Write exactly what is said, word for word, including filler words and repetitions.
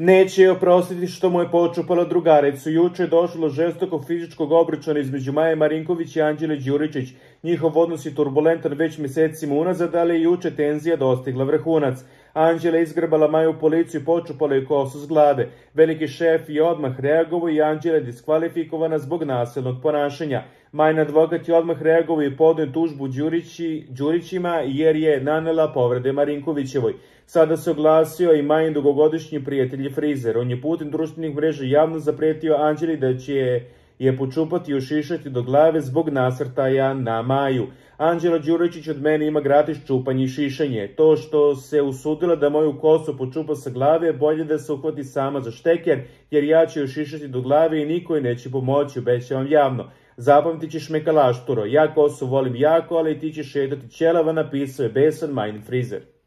Neće je oprostiti što mu je počupala drugaricu. Juče je došlo do žestokog fizičkog obračuna između Maje Marinković i Anđele Đuričić. Njihov odnos je turbulentan već mjesecima unazad, ali je juče tenzija dostigla vrhunac. Anđela je izgrbala Maju u policiju i počupala je kosu s glave. Veliki šef je odmah reagovao i Anđela je diskvalifikovana zbog nasilnog ponašanja. Majin advokat je odmah reagovao i podnio tužbu Đurići, Đurićima jer je nanela povrede Marinkovićevoj. Sada se oglasio i Majin dugogodišnji prijatelj je frizer. On je putem društvenih mreža javno zapretio Anđeli da će je počupati i ušišati do glave zbog nasrtaja na Maju. Anđela Đuričić od mene ima gratis čupanje i šišanje. To što se usudila da moju kosu počupa sa glave, bolje da se uhvati sama za šteker, jer ja ću joj šišati do glave i niko joj neće pomoći, obećavam javno. Zapamtit ćeš me kalašturo, ja kosu volim jako, ali ti ćeš šetati ćelava, napisao je besan Majin frizer.